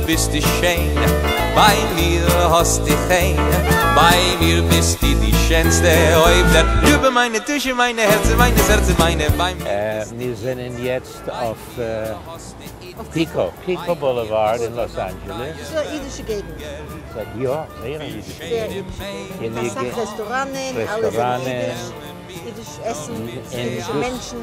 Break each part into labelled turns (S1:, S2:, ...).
S1: ביסטו שיין, ביי מיר האסטו חן, ביי מיר ביסטו די שענסטע אויף דער ליבע מיינע דושע מיינע הערצער מיינע סערצער מיינע ביי מיר ביסטו
S2: מיר זענען יעצט אויף פיקא, פיקא בולעווארד אין לאס אנדזשעלעס.
S3: ס'איז א אידישע געגנט.
S2: יא, זייער א אידישע געגנט.
S3: אסאך רעסטוראנען, אלע זענען אידיש, אידיש עסן, אידישע מענטשן,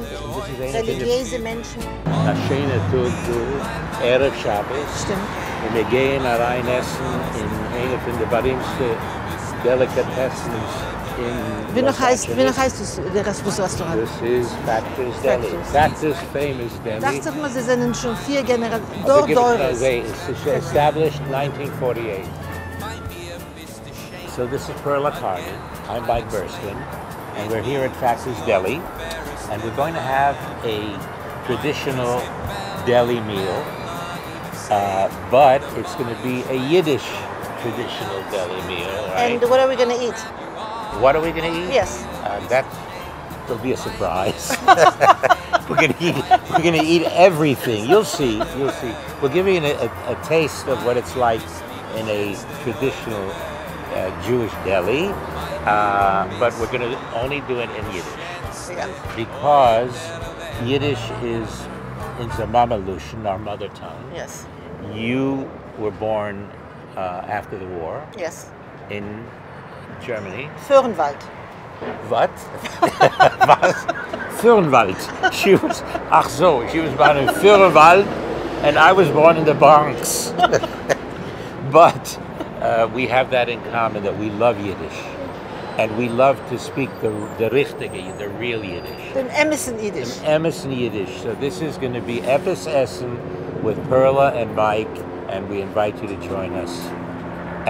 S3: רעליגיעזע מענטשן.
S2: א שיינע טאג דא, ערב שבת.
S3: שטימט.
S2: און מיר גייען אריין עסן אין איינע פון די בארימסטע דעליקאטעסנס אין לאס אנדזשעלעס.
S3: ווי נאך הייסט דאס דאס רעסטוראנט?
S2: דאס איז פעקטערס דעלי, פעקטערס famous deli.
S3: דאכט זיך מיר זיי זענען שוין פיר גענעראציעס, דור דורות.
S2: ס'איז established 1948. So this is Perla Carney, I'm Mike Burstyn, and we're here at Factor's Deli, and we're going to have a traditional deli meal, uh, but it's going to be a Yiddish traditional deli meal,
S3: right? And what are we going to eat?
S2: What are we going to eat?
S3: Yes.
S2: Uh, that will be a surprise. we're going to eat. We're going to eat everything. You'll see. You'll see. We'll give you a, a, a taste of what it's like in a traditional uh, Jewish deli, uh, but we're going to only do it in Yiddish.
S3: Yeah.
S2: Because Yiddish is אונדזער מאַמע לשון, our mother tongue.
S3: Yes.
S2: You were born uh, after the war.
S3: Yes.
S2: In Germany.
S3: Föhrenwald.
S2: What? וואָס? Föhrenwald. She was, אַך אַזוי, she was born in Föhrenwald, and I was born in the Bronx. but uh, we have that in common that we love Yiddish. And we love to speak the, the ריכטיקע, the real Yiddish.
S3: דעם אמתן ייִדיש.
S2: דעם אמתן ייִדיש. So this is going to be עפּעס עסן with Perla and Mike, and we invite you to join us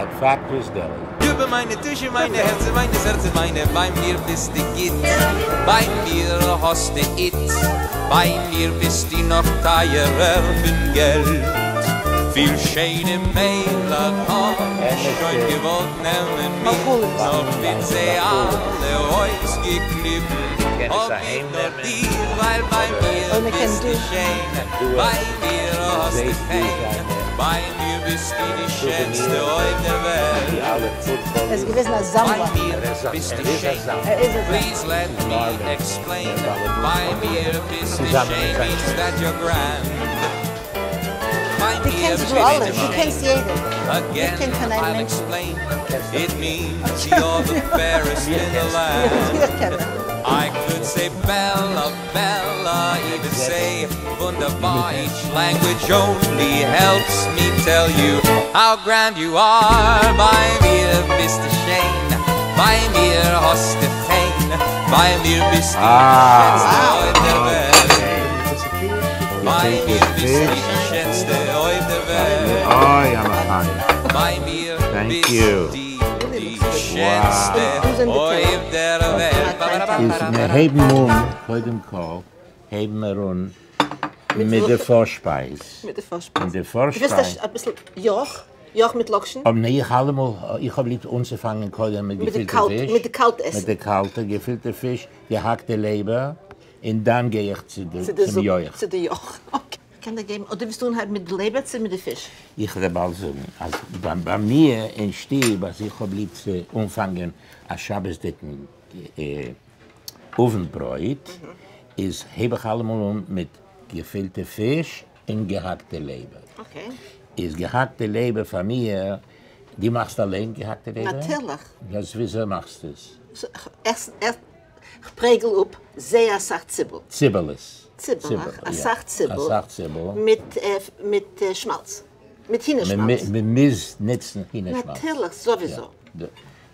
S2: at Factor's Deli.
S1: ליבע מײַנע דושע מײַנע הערצער מײַנע סערצער מײַנע בײַ מיר ביסטו גוט בײַ מיר האסטו איט בײַ מיר ביסטו נאָך טײַערער פֿון געלט פֿיל שיינע מיידלעך האָב שוין געוואָלט נעמען מיך נאָר פֿון זיי אַלע אויסגעקליבן האָב איך נאָר דיך ווײַל בײַ מיר ביסטו שיין בײַ מיר האסטו חן בײַ מיר ביסטו די שענסטע אויף דער וועלט.
S3: ער איז געוועזן אַ זאַמלער.
S1: בײַ מיר ביסטו שיין. Please let me explain. בײַ מיר ביסטו שיין means that you're grand.
S3: דו קענסט דו אַלע, דו קענסט יעדן.
S1: Again,
S3: איך קען קיין איין
S1: I'll
S3: מענטש.
S1: explain. It means you're the fairest in the land.
S3: מיר קענען.
S1: I could say Bella, Bella, even say wunderbar. Each language only helps me tell you how grand you are. בײַ מיר ביסטו שיין, בײַ מיר האסטו חן, בײַ מיר ביסטו די שענסטע אויף דער וועלט. בײַ מיר ביסטו די שענסטע אויף דער וועלט.
S2: אוי, אַ מחיה.
S1: בײַ מיר
S2: Thank
S1: ביסטו
S2: you.
S1: די שענסטע אויף דער וועלט.
S2: איז מיר הייבן אָן, קודם כּל, הייבן מיר אָן מיט דער פֿאָרשפּײַז.
S3: מיט דער פֿאָרשפּײַז.
S2: און דער
S3: דו ווילסט
S2: פֿאָרשפּײַז.
S3: אַ ביסל יויך? יויך מיט לאָקשן?
S2: אָבער ניין, איך אַלע מאָל, איך האָב ליב אָנצופֿאַנגען קודם מיט
S3: מיט די
S2: געפֿילטע
S3: קאַלט,
S2: פֿיש.
S3: מיט די קאַלט עסן.
S2: מיט די קאַלטע געפֿילטע פֿיש, געהאַקטע לעבער, און דאַן גיי איך צו די,
S3: צו די
S2: צום
S3: זופּ,
S2: יויך.
S3: צו די יויך. Okay. קען דיר געבן, אָדער ווילסטו אָנהייבן מיט די לעבער צי מיט די פֿיש?
S2: איך וועל באַלד זאָגן, אַז בײַ, בײַ מיר אין שטוב, אַז איך האָב ליב צו אָנפֿאַנגען אַ שבתדיקן אה, אָוונטברויט, איז הייב איך אַלע מאָל אָן מיט געפֿילטע פֿיש און געהאַקטע לעבער.
S3: Okay.
S2: איז געהאַקטע לעבער פֿאַר מיר, דו מאַכסט אַליין געהאַקטע לעבער?
S3: נאַטירלעך.
S2: דאָס וויאַזוי מאַכסטו עס?
S3: ערשט, ערשט, כ'פּרעגל אָפּ זייער אַ סך ציבל.
S2: ציבעלעס.
S3: ציבעלעך, אַ
S2: יאָ.
S3: סך ציבל.
S2: אַ סך ציבל.
S3: מיט, אה, מיט אה, שמאַלץ. מיט הינערשמאַלץ.
S2: מען מוז ניצן הינערשמאַלץ.
S3: נאַטירלעך, סאָוויסאָ.
S2: יאָ.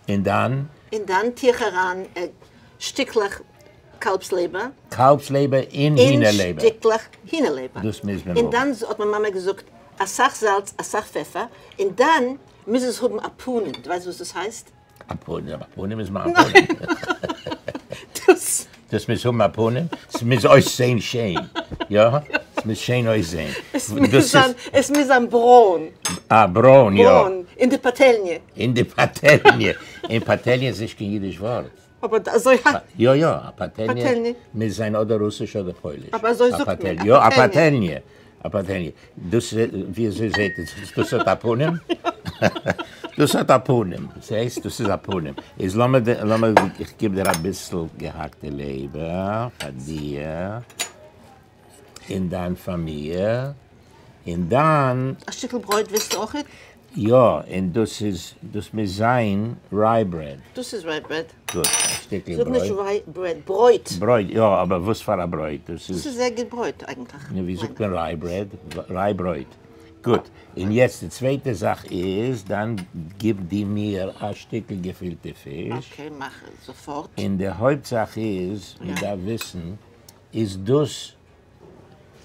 S2: און דאַן?
S3: און דאַן טו איך אַרײַן אה, שטיקלעך קאַלבסלעבער.
S2: קאַלבסלעבער אין
S3: אין
S2: הינערלעבער.
S3: שטיקלעך הינערלעבער.
S2: דאָס מוז מען
S3: און
S2: האָבן.
S3: דאַן האָט מײַן מאַמע געזאָגט, אַ סך זאַלץ, אַ סך פֿעפֿער. און דאַן מוז עס האָבן אַ פּנים. דו ווייסט, וואָס דאָס הייסט?
S2: אַ פּנים, אַ פּנים איז מײַן פּנים.
S3: דאָס.
S2: דאָס מוז האָבן אַ פּנים. עס מוז אויסזען שיין. יאָ? עס מוז שיין אויסזען.
S3: עס מוז
S2: דאָס איז
S3: זײַן, עס מוז זײַן ברוין.
S2: אַ, ברוין, יאָ.
S3: ברוין. אין די פּאַטעלניע.
S2: אין די פּאַטעלניע. אין פּאַטעלניע איז נישט קיין ייִדיש וואָרט.
S3: אָבער אַזוי
S2: יאָ, יאָ, אַ פּאַטעלניע
S3: פּאַטעלניע.
S2: מוז זײַן אָדער רוסיש אָדער פּויליש.
S3: אָבער אַזוי
S2: אַ
S3: זאָגט מען,
S2: פּאַטעלניע.
S3: אַ
S2: יאָ, אַ
S3: פּאַטעלניע.
S2: פּאַטעלניע. אַ פּאַטעלניע. דאָס, ווי אַזוי זעט עס אויס? דאָס האָט אַ פּנים? דאָס האָט אַ פּנים. זעסט, דאָס איז אַ פּנים. איז לאָמיר, לאָמיר, איך גיב דיר אַ ביסל געהאַקטע לעבער פֿאַר דיר און דײַן פֿאַמיליע. און דאַן.
S3: אַ שטיקל ברויט ווילסטו אויכעט?
S2: יא, און דאס איז, דאס מוז זיין rye bread.
S3: דאס איז rye bread.
S2: גוט, א שטיקל ברויט.
S3: זאג נישט rye bread, ברויט.
S2: ברויט, יא, אבער וואס פאר א ברויט? דאס איז.
S3: דאס איז זייער גוט ברויט אייגנטליך.
S2: נו, ווי זאגט מען rye bread? Rye ברויט. גוט, און יעצט די צווייטע זאך איז, דאן גיב דו מיר א שטיקל געפילטע פיש.
S3: Okay, מאך זאפארט.
S2: און די הויפט זאך איז, מען דארף וויסן, איז דאס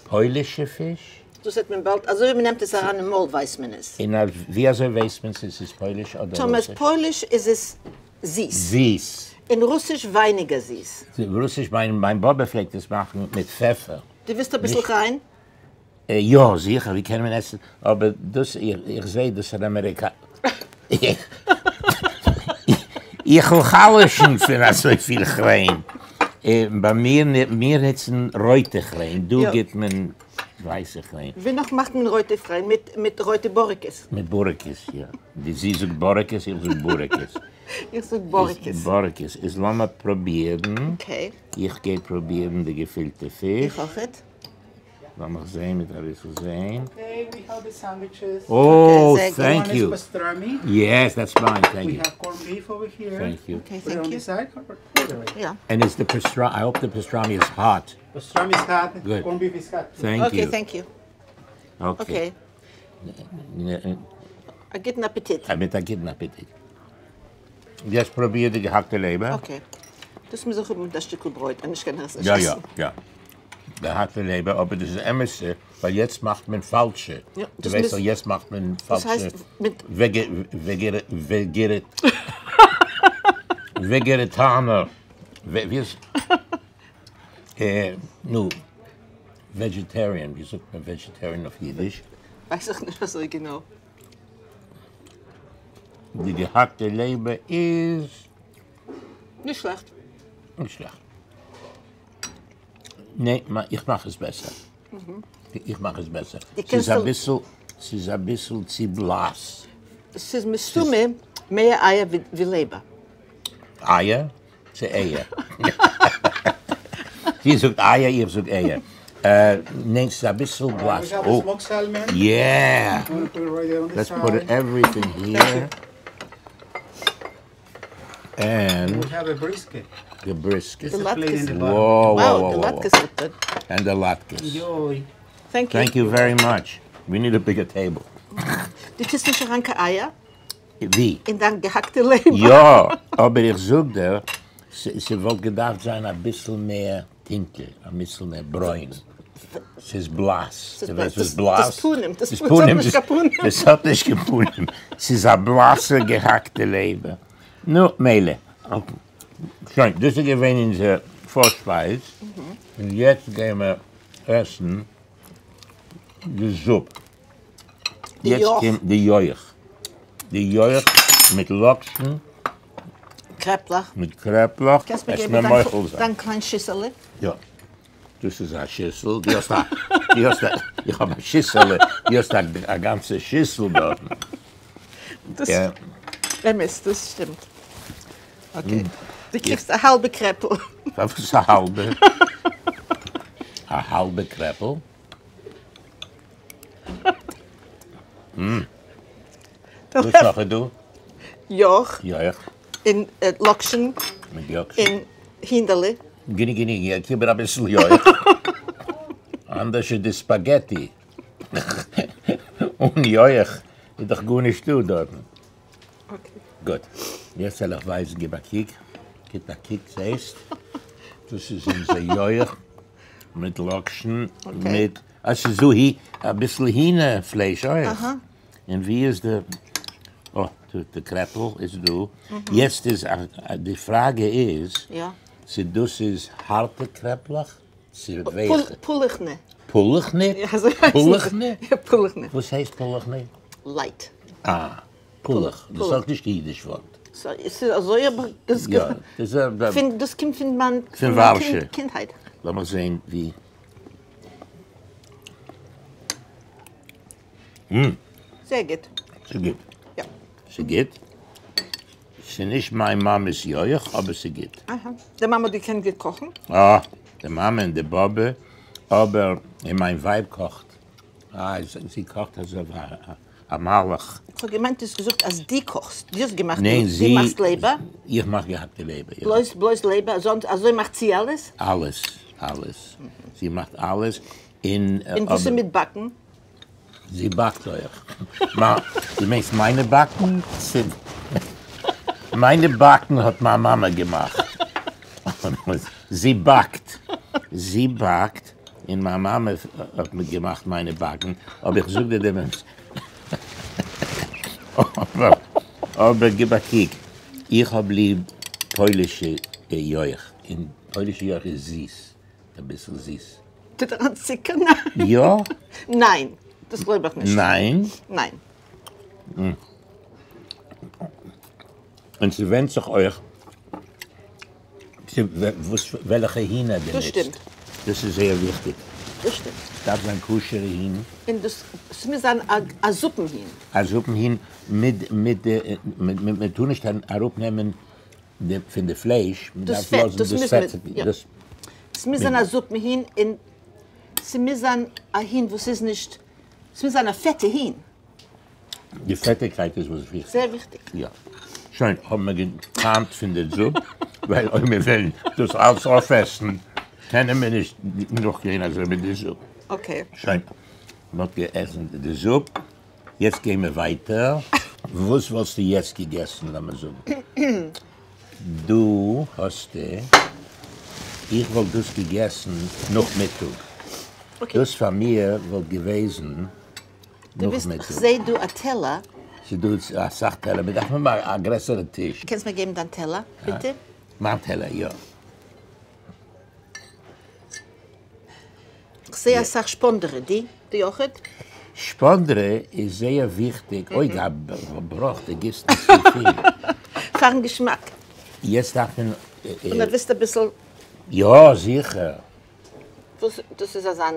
S2: פוילישע פיש?
S3: דאס זעט מען באלד, אזוי ווי מען נעמט עס אריין אין מויל ווייסט מען עס.
S2: און ווי אזוי ווייסט מען צו עס איז פויליש אדער רוסיש?
S3: טאמער איז פויליש איז עס זיס.
S2: זיס.
S3: און רוסיש ווייניגער זיס.
S2: רוסיש, מיין באבע פלעגט עס מאכן מיט פעפער.
S3: דו ווילסט אביסל כריין?
S2: יא זיכער, ווי קען מען עסן, אבער דאס, איך זעה דאס איז אמעריקא. איך וועל חלש'ן פון אזויפיל כריין. ביי מיר, מיר נוצן רויטע כריין, דא גיבט מען ווייסע כריין.
S3: ווי נאך מאכט מען רויטע כריין? מיט רויטע בוריקעס.
S2: מיט בוריקעס, יא. זי זאגט בוריקעס, איך זאג בוריקעס.
S3: איך זאג בוריקעס.
S2: בוריקעס. איז לאמיר פרובירן.
S3: Okay.
S2: איך גיי פרובירן די געפילטע פיש.
S3: איך אויכעט.
S2: לאמיך זעהן מיט אביסל זעהן.
S4: Okay, we have the sandwiches.
S2: Oh, thank you.
S4: One is pastrami.
S2: Yes, that's fine, thank
S4: We
S2: you.
S4: have corned beef over here.
S2: Thank you.
S3: Okay,
S4: Put it
S3: thank
S4: on
S3: you.
S4: the side or order it.
S3: Yeah.
S2: And is the pastrami, I hope the pastrami is hot.
S4: Pastrami is hot.
S2: Good.
S4: Corned beef is hot.
S2: Thank
S3: Okay,
S2: you.
S3: thank you.
S2: Okay.
S3: Okay. א גוטן אפעטיט.
S2: מיט א גוטן אפעטיט. יעצט פרוביר די געהאקטע לעבער.
S3: Okay. דאס מוז איך האבן מיט א שטיקל ברויט, אנישט קען איך עס נישט
S2: יא יא
S3: עסן.
S2: יא. געהאקטע לעבער, אבער דאס איז אמת'ע, ווייל יעצט מאכט מען פאלשע.
S3: יא,
S2: דו
S3: דאס
S2: ווייסט
S3: מוז
S2: דאך יעצט מאכט מען
S3: דאס
S2: פאלשע
S3: הייסט מיט.
S2: וועגערעטאנער, ווי איז, נו, vegetarian, ווי זאגט מען vegetarian אויף אידיש?
S3: ווייס איך נישט אזוי גענוי.
S2: די געהאקטע לעבער איז.
S3: נישט שלעכט.
S2: נישט שלעכט. ניין, איך מאך עס בעסער. איך מאך עס בעסער. ס'איז אביסל, ס'איז אביסל צו בלאס.
S3: ס'איז מסתמא מער אייער ווי לעבער.
S2: אייער? צו אייער? זי זאגט אייער, איך זאג אייער. ניין, ס'איז אביסל בלאס.
S4: We have a smoked salmon.
S2: Yeah!
S4: I'm gonna put it right there on the
S2: Let's
S4: side.
S2: put everything here. And
S4: We have a brisket.
S2: the brisket.
S4: There's a plate in the bottom.
S2: Whoa, whoa,
S3: Wow,
S2: whoa,
S3: the
S2: whoa, whoa.
S3: latkes look good.
S2: And the latkes.
S4: Enjoy.
S3: Thank you.
S2: Thank you very much. We need a bigger table.
S3: דו טוסט נישט אריין קיין אייער
S2: ווי?
S3: אין דיין געהאקטע לעבער?
S2: יא, אבער איך זאג דיר, ס'וואלט געדארפט זיין אביסל מער טונקל, אביסל מער ברוין. ס'איז בלאס. דו ווייסט וואס בלאס?
S3: דאס פנים, דאס האט נישט קיין פנים.
S2: דאס האט נישט קיין פנים. ס'איז א בלאסע געהאקטע לעבער. נו, מילא. שוין, דאס איז געווען אונזער פארשפייז, און יעצט גייען מיר עסן די זופ.
S3: די
S2: יעצט
S3: יויך.
S2: קומט די יויך. די יויך מיט לאקשן.
S3: קרעפלעך.
S2: מיט קרעפלעך.
S3: קענסט מיר
S2: עס
S3: געבן
S2: מיר מוחל זיין.
S3: דיין קליין שיסעלע?
S2: יא. דאס איז א שיסל. דו האסט א, דו האסט א, איך האב א שיסעלע. דו האסט א גאנצע שיסל דארטן.
S3: דאס אמת, דאס שטימט. Okay. דו קריגסט א האלבע קרעפל.
S2: פארוואס א האלבע? א האלבע קרעפל? וואס נאך איז דא?
S3: יויך.
S2: יויך.
S3: און לאקשן.
S2: מיט לאקשן.
S3: און הינדעלע.
S2: גענוג גענוג, גיב מיר אביסל יויך. אנדערש איז די ספאגעטי. אן יויך איז דאך גארנישט דא דארטן. גוט. יעצט וועל איך ווייזן, גיב א קוק. גיב א קוק, זעסט? דאס איז אונזער יויך מיט לאקשן, מיט, אה ס'איז דא הי, אביסל הינער פלייש אויך. און ווי איז די, אה, די קרעפל איז דא. יעצט איז, די פראגע איז, צו דאס איז הארטע קרעפלעך, צו ווייכע.
S3: פולעכנע.
S2: פולעכנע?
S3: יא, אזוי הייסט עס.
S2: פולעכנע?
S3: יא, פולעכנע.
S2: וואס הייסט פולעכנע?
S3: Light.
S2: אה, פולעך. דאס איז אויך נישט קיין אידיש ווארט.
S3: ס'איז אזוי אבער דאס
S2: יא, דאס איז.
S3: דאס קומט פון מיין
S2: פון ווארשע.
S3: קינדהייט.
S2: לאמיך זען ווי.
S3: זייער גוט.
S2: ס'גוט.
S3: יא.
S2: ס'גוט. ס'נישט מיין מאמע'ס יויך, אבער ס'גוט.
S3: אהא. די מאמע האט געקענט גוט קאכן?
S2: אה, די מאמע און די באבע, אבער און מיין ווייב קאכט. אה, זי קאכט אזוי ווי א מלאך.
S3: כ'האב געמיינט דו האסט געזאגט אז דו קאכסט, דו האסט געמאכט,
S2: ניין,
S3: דו מאכסט לעבער?
S2: איך מאך געהאקטע לעבער, יא.
S3: בלויז בלויז לעבער? אזוי מאכט זי אלעס?
S2: אלעס, אלעס. זי מאכט אלעס, און.
S3: און וואס איז מיט באקן?
S2: זי באקט אויך. דו מיינסט מיינע באקן? מיינע באקן האט מיין מאמע געמאכט. זי באקט. זי באקט, און מיין מאמע האט מיר געמאכט מיינע באקן, אבער איך זאג דיר דעם אמת. אבער גיב א קוק, איך האב ליב פוילישע יויך, און פוילישע יויך איז זיס, אביסל זיס.
S3: טוט אריין צוקער? ניין.
S2: יא?
S3: ניין, דאס גלויב איך נישט.
S2: ניין?
S3: ניין.
S2: און ס'ווענדט זיך אויך וואס וועלכע הינער דו נוצט.
S3: דאס שטימט.
S2: דאס איז זייער וויכטיג.
S3: דאס שטימט.
S2: ס'דארף זיין כשר'ע הין.
S3: און דאס ס'מוז זיין א זופן הין.
S2: א זופן הין מיט מיט די מען טאר נישט אראפנעמען פון די פלייש, מען דארף לאזן דאס פעט.
S3: ס'מוז זיין א זופן הין און ס'מוז זיין א הין וואס איז נישט, ס'מוז זיין א פעטע הין.
S2: די פעטיגקייט איז וואס וויכטיג.
S3: זייער וויכטיג.
S2: יא. שוין, האבן מיר געטעמט פון די זופ, ווייל אויב מיר וועלן דאס אלץ אויפעסן, קענען מיר נישט נאכגיין אזוי מיט די זופ.
S3: okay.
S2: שוין, מען האט געעסן די זופ, יעצט גייען מיר ווייטער. וואס וואלסטו יעצט געגעסן, לאמיר זאגן דא האסטו, איך וואלט דאס געגעסן נאכמיטאג, דאס פאר מיר וואלט געוועזן נאכמיטאג.
S3: כ'זעה דא א טעלער.
S2: ס'איז דא אסאך טעלער, מיר דארפן האבן א גרעסערע טיש.
S3: קענסט מיר געבן דיין טעלער ביטע?
S2: מיין טעלער, יא.
S3: כ'זעה אסאך שפאנדערע, די די אויכעט?
S2: שפאנדערע איז זייער וויכטיג, אוי געבראך די גיסט נישט צופיל.
S3: פארן געשמאק.
S2: יעצט דארף מען.
S3: און דו ווילסט אביסל.
S2: יא זיכער.
S3: וואס דאס איז אזאן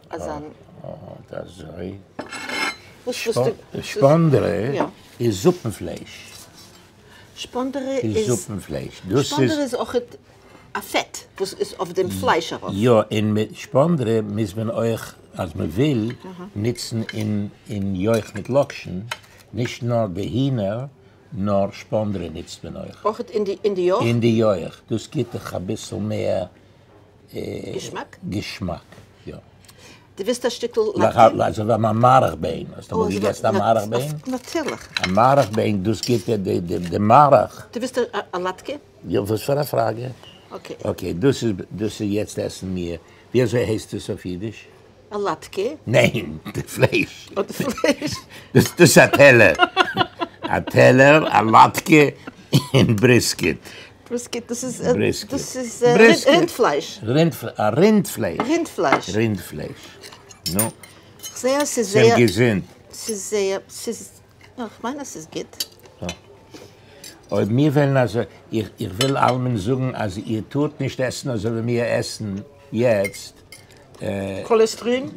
S3: אזאן.
S2: אט אזוי.
S3: וואס וואס די.
S2: שפאנדערע איז זופן פלייש.
S3: שפאנדערע איז
S2: זופן פלייש. דאס איז.
S3: שפאנדערע איז אויכעט א פעט וואס איז אויף דעם פלייש ארויף.
S2: יא, און מיט שפאנדרע מוז מען אויך, אז מען וויל, נוצן אין יויך מיט לאקשן, נישט נאר די הינער, נאר שפאנדרע נוצט מען אויך.
S3: אויך אין די יויך?
S2: אין די יויך, דאס גיט דיך אביסל מער
S3: געשמאק?
S2: געשמאק, יא.
S3: דו ווילסט א שטיקל לאקשן?
S2: אזוי ווי א מארעך-ביין, האסט אמאל געגעסן א מארעך-ביין?
S3: נאטירליך.
S2: א מארעך-ביין, דאס גיט דיר די מארעך.
S3: דו ווילסט א לאטקע?
S2: יא, וואס פאר א פראגע?
S3: okay.
S2: okay, דאס איז, דאס איז יעצט עסן מיר, ווי אזוי הייסט עס אויף אידיש?
S3: א לאטקע.
S2: ניין, די פלייש.
S3: אה, די פלייש.
S2: דאס איז א טעלער. א טעלער, א לאטקע, און brisket.
S3: brisket, דאס איז,
S2: brisket.
S3: דאס איז רינדפלייש.
S2: א רינדפלייש.
S3: רינדפלייש.
S2: רינדפלייש. נו.
S3: כ'זע אז ס'איז זייער.
S2: צום געזונט.
S3: ס'איז זייער, ס'איז, יא, כ'מיין אז ס'איז גוט.
S2: אויב מיר וועלן אזוי, איך וויל אלעמען זאגן אז איר טארט נישט עסן אזוי ווי מיר עסן יעצט.
S3: קאלעסטרין?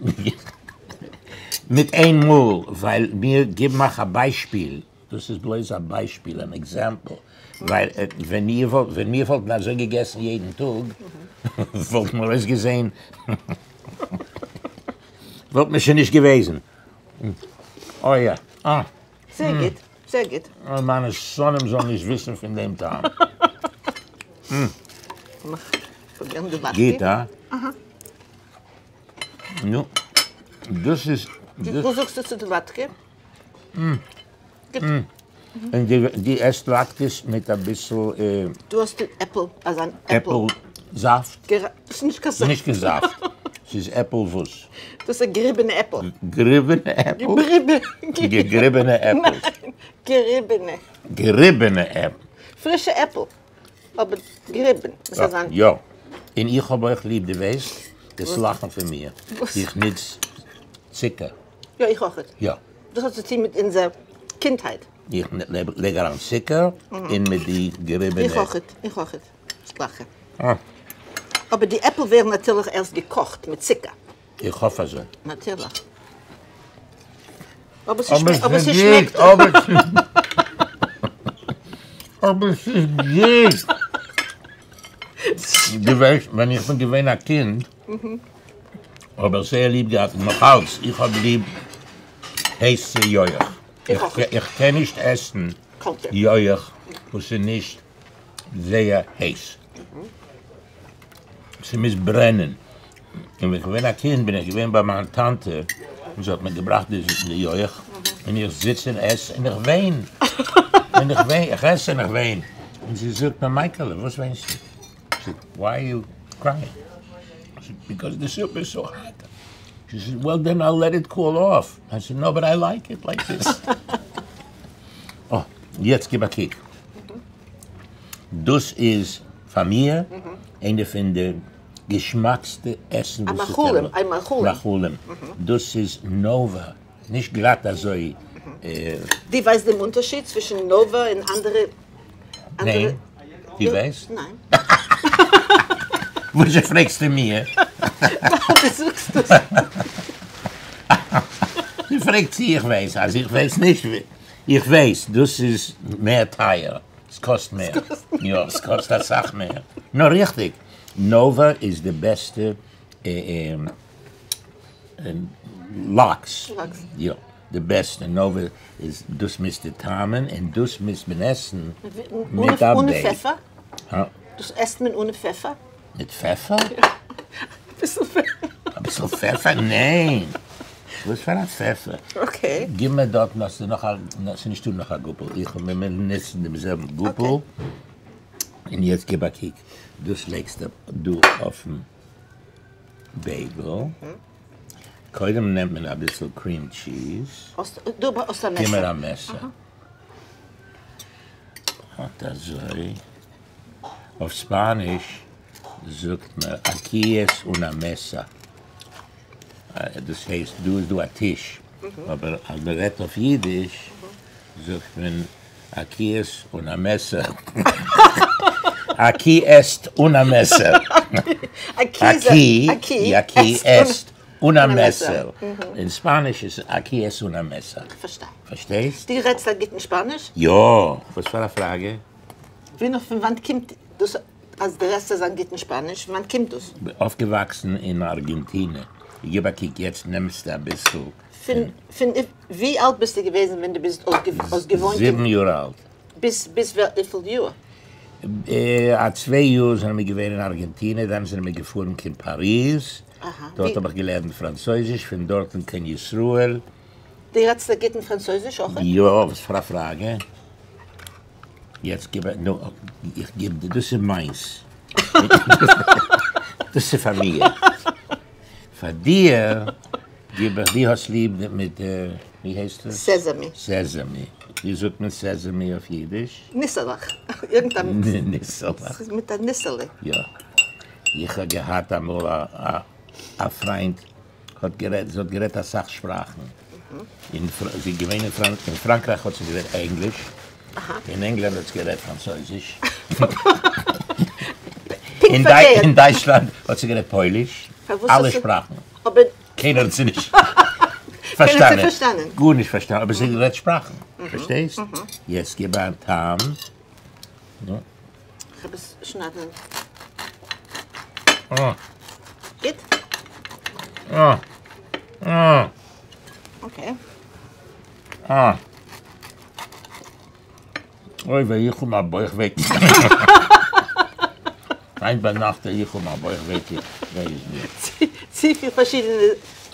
S2: מיט איין מאל, ווייל מיר גיבן אייך א ביישפיל, דאס איז בלויז א ביישפיל, אן example, ווייל ווען מיר וואלטן אזוי געגעסן יעדן טאג, וואלטן מיר אויסגעזען, וואלט מען שוין נישט געוועזן. אוי יא. אה.
S3: זייער גוט, זייער גוט.
S2: אוי מיינע שונאים זאלן נישט וויסן פון דעם טעם.
S3: לאמיך פרובירן די לאטקע.
S2: גוט, הא?
S3: אהא.
S2: נו, דאס איז.
S3: וואס זאגסטו צו די לאטקע? גוט.
S2: און דו עסט לאטקעס מיט אביסל.
S3: דו האסט עפל, אזאן עפל.
S2: עפל זאפט?
S3: ס'איז נישט קיין זאפט.
S2: נישט קיין זאפט. ס'איז עפל וואס?
S3: דאס איז געריבענע עפל.
S2: געריבענע עפל? געריבענע עפל.
S3: ניין, געריבענע.
S2: געריבענע עפל.
S3: פרישע עפל, אבער געריבען.
S2: יא, און איך האב אויך ליב, דו ווייסט, דאס לאכן פון מיר. איך נוץ צוקער.
S3: יא, איך אויך.
S2: יא.
S3: דאס האט צו טון מיט אונזער קינדהייט.
S2: איך לייג אריין צוקער און מיט די געריבענע.
S3: איך אויך, איך אויך. ס'גלייכע. אבער די עפל ווערן נאטירליך ערשט געקאכט מיט צוקער.
S2: איך האף אזוי.
S3: נאטירליך. אבער ס'שמעקט.
S2: אבער ס'איז גוט. דו ווייסט ווען איך בין געווען א קינד האב איך זייער ליב געהאט און נאך אלץ איך האב ליב הייסע יויך. איך קען נישט עסן יויך וואס איז נישט זייער הייס. ס'מוז ברענען. און ווען איך בין געווען א קינד בין איך געווען ביי מיין טאנטע און זי האט מיר געבראכט די יויך און איך זיץ און עס און איך וויין און איך וויין איך עס און איך וויין און זי זאגט מיר מייקעלע וואס וויינסטו? איך זאג וויי אר יו קרייאינג? זי זאגט ביקאוז די סופ איז סאו האט. שי סעיד וועל דען אייל לעט איט קול אףף. איי סעיד נאו באט איי לייק איט לייק דיס. אה יעצט גיב א קוק. דאס איז פאר מיר איינע פון די געשמאקסטע עסן וואס איך קען.
S3: א מאכלים.
S2: מאכלים. דאס איז נאווא, נישט גלאט אזוי.
S3: דו ווייסט דעם אונטערשיד צווישן נאווא און אנדערע?
S2: ניין. דו ווייסט?
S3: ניין.
S2: וואזשע פרעגסטו מיר?
S3: ווייל דו זאגסט עס.
S2: דו פרעגסט צי איך ווייס אז איך ווייס נישט. איך ווייס דאס איז מער טייער, ס'קאסט מער, יא ס'קאסט אסאך מער, נאר ריכטיג, נאווא איז די בעסטע לאקס, יא די בעסטע, נאווא איז דאס מוזטו טעמ'ען און דאס מוז מען עסן מיט א
S3: אנע פעפער? דאס עסט מען אנע פעפער?
S2: מיט פעפער?
S3: אביסל פעפער.
S2: אביסל פעפער? ניין! וואס פאר א פעפער?
S3: okay.
S2: גיב מיר דארטן האסטו נאך א, ס'איז נישטא נאך א גאפל, איך און מיר נוצן דעם זעלבן גאפל, און יעצט גיב א קוק, דאס לייגסטו דא אויפן בייגל, קודם נעמט מען אביסל cream cheese,
S3: גיב
S2: מיר א מעסער, אט אזוי. אויף ספאניש זאגט מען aquí es una mesa, דאס הייסט דא איז דא א טיש, אבער אז מען רעדט אויף אידיש זאגט מען aquí es una מעסער, aquí est una מעסער, aquí aquí est una מעסער, אין ספאניש איז aquí es una mesa.
S3: כ'פארשטיי.
S2: פארשטייסט?
S3: דו רעדסט א גוטן שפאניש?
S2: יא! וואס פאר א פראגע?
S3: ווי נאך פון וואנט קומט דאס אז דו רעדסט אזא גוטן שפאניש? פון וואנט קומט דאס?
S2: אויפגעוואקסן אין ארגענטינע. גיב א קוק יעצט נעמסטו אביסל
S3: פון. פון ווי אלט ביסטו געוועזן ווען דו ביסט אויסגעוואוינט?
S2: זיבן יאר אלט.
S3: ביז ביז וויפיל יאר?
S2: א צוויי יאר זענען מיר געווען אין ארגענטינע, דאן זענען מיר געפארן קיין פאריז, דארט האב איך געלערנט פראנצויזיש, פון דארטן קיין ישראל.
S3: דו רעדסט א גוטן פראנצויזיש אויך?
S2: יא, וואס פאר א פראגע? יעצט גיב נו, איך גיב דיר, דאס איז מיינס, דאס איז פאר מיר, פאר דיר גיב איך, דו האסט ליב מיט, ווי הייסט עס?
S3: סעזעמי.
S2: סעזעמי, ווי זאגט מען סעזעמי אויף אידיש?
S3: ניסעלעך, irgend א.
S2: ניסעלעך.
S3: ס'איז מיט א ניסעלע.
S2: יא, איך האב געהאט אמאל א פריינט האט גערעדט, זי האט גערעדט אסאך שפראכן, אין זי איז געווען אין אין פראנקרייך האט זי גערעדט ענגליש, אין ענגלאנד האט זי גערעדט פראנצויזיש, אין דייטשלאנד האט זי גערעדט פויליש, אלע שפראכן, קיינער האט זי נישט פארשטאנען, גארנישט פארשטאנען, אבער זי האט גערעדט שפראכן, פארשטייסט? יעצט גיב א טעם.
S3: כ'האב עס שניידן. גוט? okay.
S2: אוי ווען איך האב א בויך וויי. היינט ביינאכט וועל איך האבן א בויך וויי וויי איז מיר.
S3: צופיל פארשידענע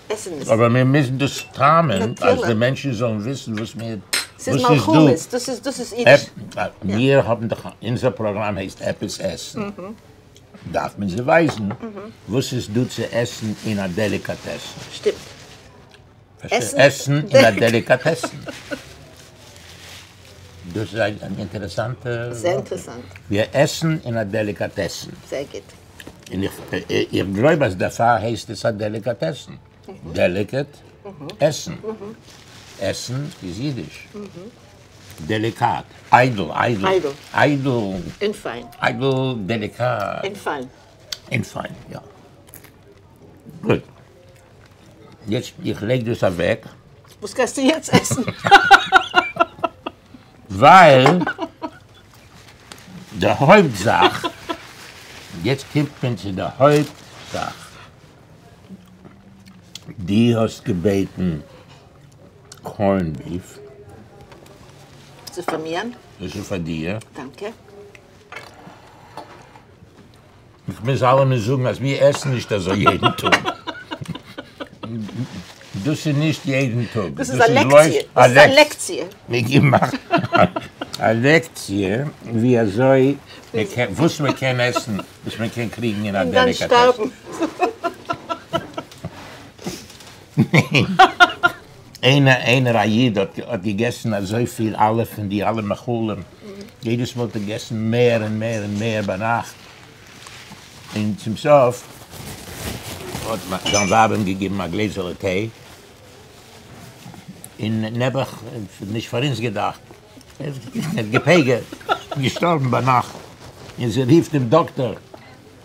S3: עסנס.
S2: אבער מיר מוזן דאס טעמ'ען אז די מענטשן זאלן וויסן וואס מיר
S3: ס'איז מלחמות, דאס איז דאס איז אידיש.
S2: מיר האבן דאך, אונזער פראגראם הייסט עפעס עסן, דארף מען זיי ווייזן וואס איז דא צו עסן אין א דעליקאטעסן.
S3: שטימט.
S2: עסן אין א דעליקאטעסן. דאס איז אן אינטערעסאנטע.
S3: זייער אינטערעסאנט.
S2: מיר עסן אין א דעליקאטעסן.
S3: זייער גוט.
S2: און איך גלויב אז דערפאר הייסט עס א דעליקאטעסן. delicate, עסן. עסן איז אידיש. דעליקאט. איידל, איידל.
S3: איידל.
S2: איידל.
S3: און פיין.
S2: איידל, דעליקאט.
S3: און פיין.
S2: און פיין, יא. גוט. יעצט איך לייג דאס אוועק.
S3: וואס גייסטו יעצט עסן?
S2: ווייל די הויפט זאך, יעצט קומט מען צו די הויפט זאך, דו האסט געבעטן קארן ביף.
S3: ס'איז פאר מיר.
S2: דאס איז פאר דיר.
S3: דאנקע.
S2: איך מוז אלעמען זאגן אז מיר עסן נישט אזוי יעדן טאג. דאס איז נישט יעדן טאג.
S3: דאס איז א לעקציע. דאס איז א לעקציע.
S2: מיר געבן א לעקציע ווי אזוי מען קען, וואס מען קען עסן, וואס מען קען קריגן אין א
S3: און דאן
S2: דעליקאטעסן.
S3: שטארבן.
S2: איינער איינער א איד האט האט געגעסן אזויפיל אלע פון די אלע מאכלים, יעדעס מאל האט ער געגעסן מער און מער און מער ביינאכט, און צום סוף האט זיין ווייב אים געגעבן א גלעזעלע טיי, און נעבעך, נישט פאר אונז געדאכט, ער האט געפגר'ט, געשטארבן ביינאכט, און זי רופט דעם דאקטאר,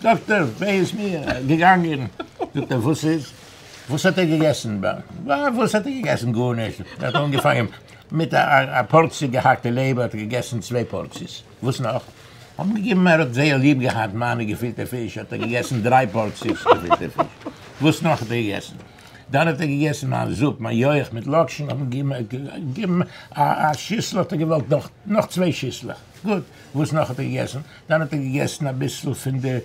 S2: דאקטאר, וויי איז מיר, געגאנגען, זאגט ער, וואס איז? וואס האט ער געגעסן? וואס האט ער געגעסן? גארנישט, ער האט אנגעפאנגען מיט א פארציע געהאקטע לעבער, האט ער געגעסן צוויי פארציעס, וואס נאך? האט מען געגעבן, ער האט זייער ליב געהאט מיינע געפילטע פיש, האט ער געגעסן דריי פארציעס געפילטע פיש, וואס נאך האט ער געגעסן? דאן האט ער געגעסן מיין זופ, מיין יויך מיט לאקשן, האט מען געגעבן א שיסל, האט ער געוואלט נאך, נאך צוויי שיסלעך, גוט, וואס נאך האט ער געגעסן? דאן האט ער געגעסן אביסל פון די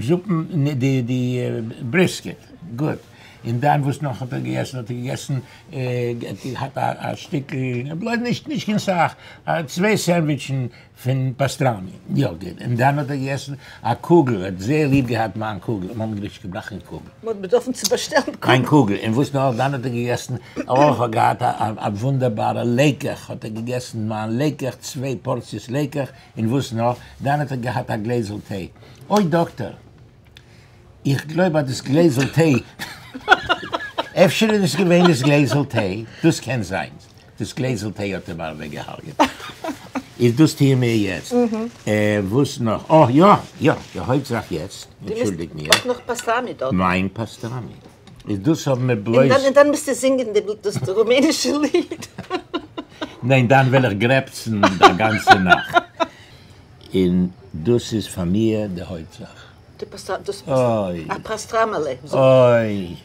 S2: זופן, די די בריסקעט, גוט, און דאן וואס נאך האט ער געגעסן? האט ער געגעסן, געהאט א שטיקל, בלויז נישט נישט קיין סאך, צוויי סענדוויטשן פון פאסטראמי, יא גוט, און דאן האט ער געגעסן א קוגל, ער האט זייער ליב געהאט מיין קוגל, מ'האט אים נישט געבראכט קיין קוגל.
S3: מ'האט באדארפן צו באשטעלן קוגל.
S2: קיין קוגל, און וואס נאך, דאן האט ער געגעסן, אויך האט געהאט א וואונדערבארע לעקעך, האט ער געגעסן מיין לעקעך, צוויי פארציעס לעקעך, און וואס נאך, דאן האט ער געהאט א גלעזל טיי, אוי דאקטער, איך גלויב אז דאס גלעזל טיי, אפשר איז עס געווען דאס גלעזל טיי, דאס קען זיין, דאס גלעזל טיי האט אים אוועקגעהרגעט. איז דאס טוען מיר יעצט. וואס נאך? אה יא יא, די הויפט זאך יעצט, אנטשולדיג מיר.
S3: אויך נאך פאסטראמי דארט.
S2: מיין פאסטראמי. איז דאס האבן מיר בלויז.
S3: און דאן מוזטו זינגען דאס רומענישע ליד.
S2: ניין, דאן וועל איך גרעפצן די גאנצע נאכט. און דאס איז פאר מיר די הויפט זאך.
S3: די פאסטראמי, דאס א פאסטראמעלע.
S2: אוי.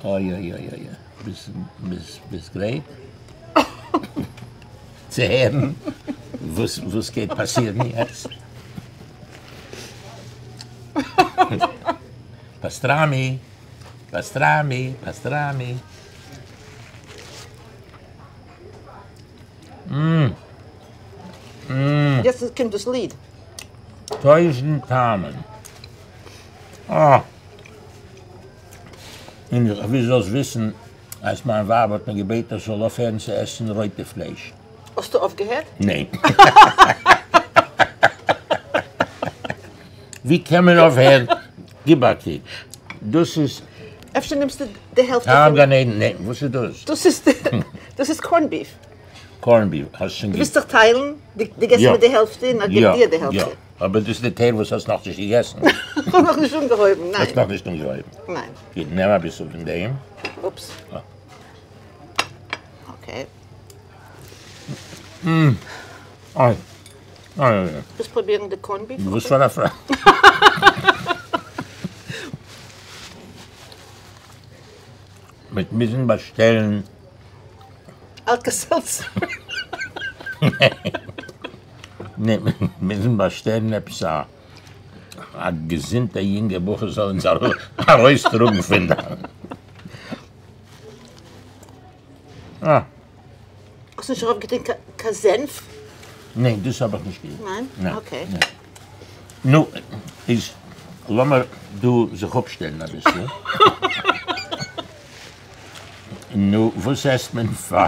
S2: אוי אוי אוי אוי, ביסט ביסט גרייט צו הערן וואס וואס גייט פאסירן יעצט? פאסטראמי, פאסטראמי, פאסטראמי.
S3: יעצט קומט דאס ליד.
S2: טויזנט טעמים. אה! און איך וויל זאלסט וויסן אז מיין ווייב האט מיר געבעטן איך זאל אויפהערן צו עסן רויטע פלייש.
S3: האסטו אויפגעהערט?
S2: ניין. ווי קען מען אויפהערן? גיב א קוק. דאס איז.
S3: אפשר נעמסטו די העלפט
S2: טעם גן עדן. ניין, וואס איז דאס?
S3: דאס איז דאס איז קארן ביף.
S2: קארן ביף. האסט שוין
S3: דו ווילסט זיך טיילן? דו געבסט מיר די העלפט און איך געב דיר די העלפט.
S2: יא. אבער דאס איז די טייל וואס האסט נאכנישט געגעסן.
S3: כ'האב נאכנישט אנגעהויבן, ניין.
S2: האסט נאכנישט אנגעהויבן.
S3: ניין.
S2: גוט, נעם אביסל פון דעם.
S3: אופס. אקעי.
S2: אוי. אוי אוי אוי.
S3: ווילסט פרובירן די קארן ביף?
S2: וואס פאר א פראגע. מ'וועט מוזן באשטעלן.
S3: אלקא-סעלצער.
S2: ניין, מוזן באשטעלן עפעס א א געזונטע יונגע בחור זאל אונז ארויסטראגן פון דא. אה.
S3: האסט נישט ארויפגעטון קיין זענף?
S2: ניין, דאס האב איך נישט געטון.
S3: ניין? אקעי.
S2: נו, איז לאמיר דא זיך אפשטעלן אביסל. נו, וואס עסט מען פאר?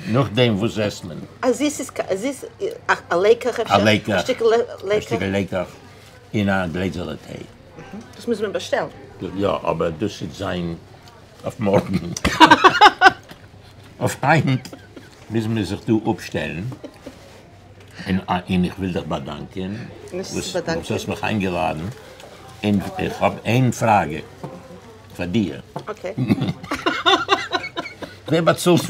S2: נאכדעם וואס עסט מען?
S3: א זיס א זיס א לעקעך אפשר?
S2: א לעקעך.
S3: א שטיקל לעקעך.
S2: א שטיקל לעקעך און א גלעזעלע טיי.
S3: דאס מוז מען באשטעלן.
S2: יא, אבער דאס וועט זיין אויף מארגן. אויף היינט מוזן מיר זיך דא אפשטעלן. און איך וויל דיך באדאנקען וואס האסט מיך איינגעלאדן. און איך האב איין פראגע פאר דיר.
S3: Okay.
S2: ווער באצאלט?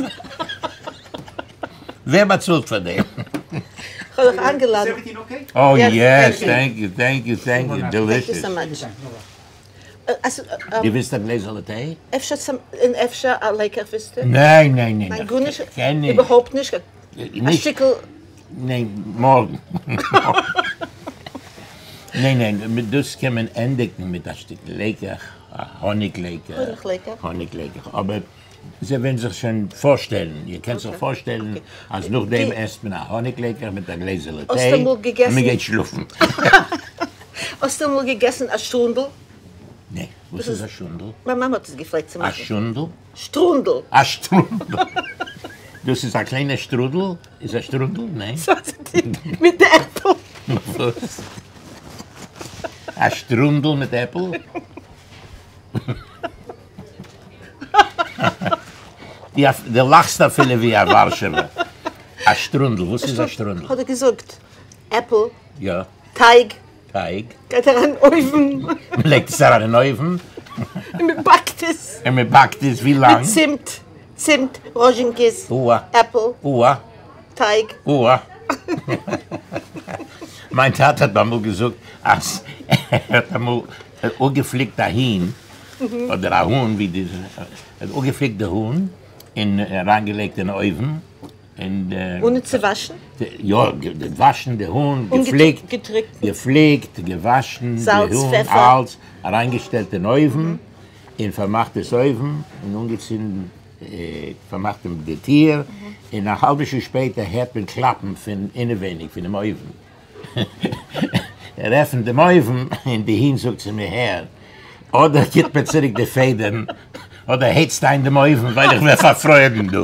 S2: ווער באצאלט פאר דעם?
S3: כ'האב דיך איינגעלאדן.
S4: Is everything okay?
S2: Oh
S3: Yes,
S2: yes,
S3: thank you.
S2: thank you, thank you, thank you.
S3: Thank you
S2: Delicious.
S3: so much.
S2: דו ווילסט א גלעזעלע טיי?
S3: אפשר צום, און אפשר א לעקעך ווילסטו?
S2: ניין, ניין, ניין.
S3: ניין, גארנישט?
S2: קען נישט.
S3: איבערהויפט נישט? א
S2: נישט.
S3: שטיקל?
S2: ניין, מארגן. ניין, ניין, מיט דאס קען מען ענדיגן מיט א שטיקל לעקעך, א האניג לעקעך.
S3: האניג לעקעך.
S2: האניג לעקעך, אבער זיי וועלן זיך שוין פארשטעלן, איר קענט זיך פארשטעלן אז נאכדעם עסט מען א האניג לעקעך מיט א גלעזעלע טיי און מען גייט שלאפן.
S3: האסטו אמאל געגעסן א שטרונדל?
S2: נע, וואס איז א שונדל?
S3: מיין מאמע האט עס געפלעגט צו מאכן.
S2: א שונדל?
S3: שטרונדל.
S2: א שטרונדל. דאס איז א קליינע שטרודל? איז א שטרונדל? ניין?
S3: מיט די עפל.
S2: וואס? א שטרונדל מיט עפל? דו לאכסט אפילו ווי א ווארשעווער. א שטרונדל, וואס איז א שטרונדל?
S3: האט ער געזאגט, עפל,
S2: יא.
S3: טייג.
S2: טייג.
S3: גייט אריין אין אויוון.
S2: מען לייגט עס אריין אין אויוון.
S3: און מען באקט עס.
S2: און מען באקט עס ווי לאנג?
S3: מיט צימט, צימט, ראזשינקעס, עפל, טייג.
S2: אוה. מיין טאטע האט אמאל געזאגט אז ער האט אמאל אפגעפליקט א הון, אדער א האן, ווי די, ער האט אפגעפליקט די האן און אריינגעלייגט אין אויוון, און.
S3: אנע צו וואשן?
S2: יא, געוואשן די האן, געפליקט, געפליקט, געוואשן די האן, אלץ, אריינגעשטעלט אין אויוון, און פארמאכט דאס אויוון, און אנגעצינדן, פארמאכט די טיר, און א האלבע שעה שפעטער הערט מען קלאפן פון אינעווייניג פונעם אויוון. ער עפנט דעם אויוון און די הון זאגט צו מיר, הער, אדער גיט מיר צוריק די פעדערן, אדער הייצט איין דעם אויוון ווייל איך ווער פארפרוירן דא.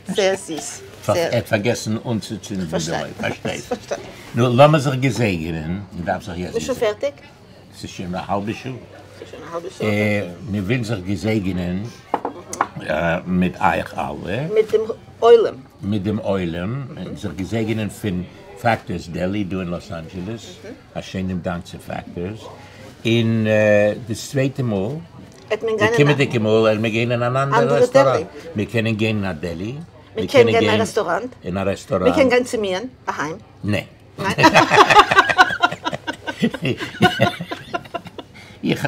S3: זייער זיס.
S2: ער האט פארגעסן אנצוצינדן דעם אויוון. פארשטייסט. נו, לאמיר זיך געזעגענען. מען דארף זיך יעצט
S3: איז שוין פערטיג?
S2: ס'איז שוין א האלבע שעה.
S3: ס'איז שוין א האלבע שעה?
S2: מיר ווילן זיך געזעגענען מיט אייך אלע.
S3: מיט דעם עולם.
S2: מיט דעם עולם. זיך געזעגענען פון פעקטארס דעלי דא אין לאס אנדזשעלעס. א שענעם דאנק צו פעקטארס. און דאס צווייטע מאל, די קומענדיגע מאל וועלן מיר גיין אין אן אנדערע רעסטוראנט. מיר קענען גיין אין א דעלי.
S3: מיר קענען גיין אין א רעסטוראנט.
S2: אין א רעסטוראנט.
S3: מיר קענען גיין צו מיר אהיים.
S2: נע. איך,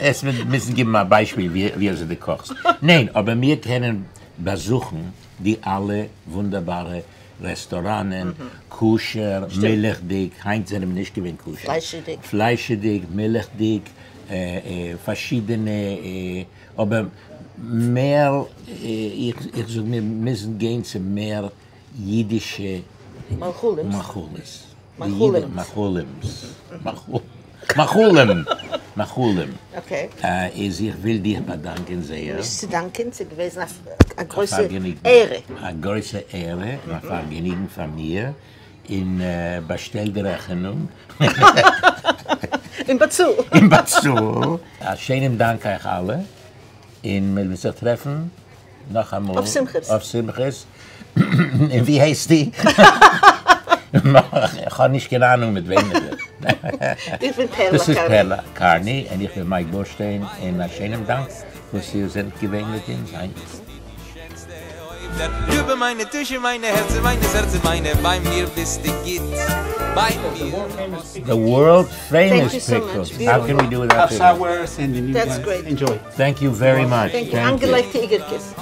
S2: עס מיר מוזן גיבן א ביישפיל ווי אזוי דו קאכסט. ניין, אבער מיר קענען באזוכן די אלע וואונדערבארע רעסטוראנען, כשר, מילכדיג, היינט זענען מיר נישט געווען כשר.
S3: פליישעדיג.
S2: פליישעדיג, מילכדיג, פארשידענע, אבער מער, איך זאג מיר מוזן גיין צו מער אידישע
S3: מאכלים.
S2: מאכלים. מאכלים. מאכלים.
S3: Okay.
S2: איז איך וויל דיך באדאנקען זייער.
S3: נישט צו דאנקען, ס'איז געוועזן א גרויסע עהרע.
S2: א גרויסע עהרע און א פארגעניגן פאר מיר, און באשטעל די רעכענונג.
S3: און באצאל.
S2: און באצאל. א שענעם דאנק אייך אלע, און מיר וועלן זיך טרעפן נאכאמאל.
S3: אויף שמחות.
S2: אויף שמחות. און ווי הייסטו? איך האב נישט קיין אהנונג מיט וועם איך רעד.
S3: איך בין פערלא קארני.
S2: דאס איז פערלא קארני און איך בין מייק בורשטיין און א שענעם דאנק וואס איר זענט געווען מיט אונז היינט.
S1: ליבע מיינע טושע מיינע הערצער מיינע סערצער מיינע ביי מיר ביסטו גוט ביי מיר
S2: The world famous pickles, how can we do without
S4: pickles?
S2: Thank you very much.
S3: Thank you. איינגעלייגטע איגערקעס.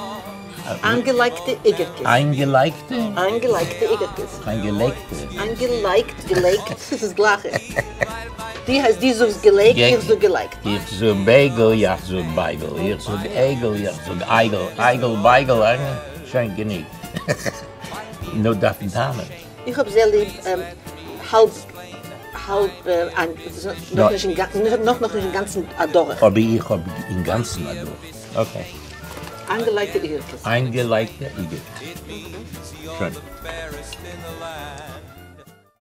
S3: איינגעלייגטע איגערקעס.
S2: איינגעלייגטע?
S3: איינגעלייגטע איגערקעס.
S2: איינגעלייגטע.
S3: איינגעלייגט, געלייגט, ס'איז גלייכע. דו הייסט, דו זאגסט געלייגט, איך זאג געלייגט.
S2: איך זאג בייגל, יאך זאג בייגל. איך זאג אייגל, יאך זאג אייגל. אייגל, בייגל, שוין גענוג. נו דארף מען טענה'ן.
S3: איך האב זייער ליב האלב האלב נאך נאך נישט אינגאנצן אדורך.
S2: אבער איך האב אינגאנצן אדורך. Okay.
S3: איינגעלייגטע איגערקעס.
S2: איינגעלייגטע איגערקעס. שוין.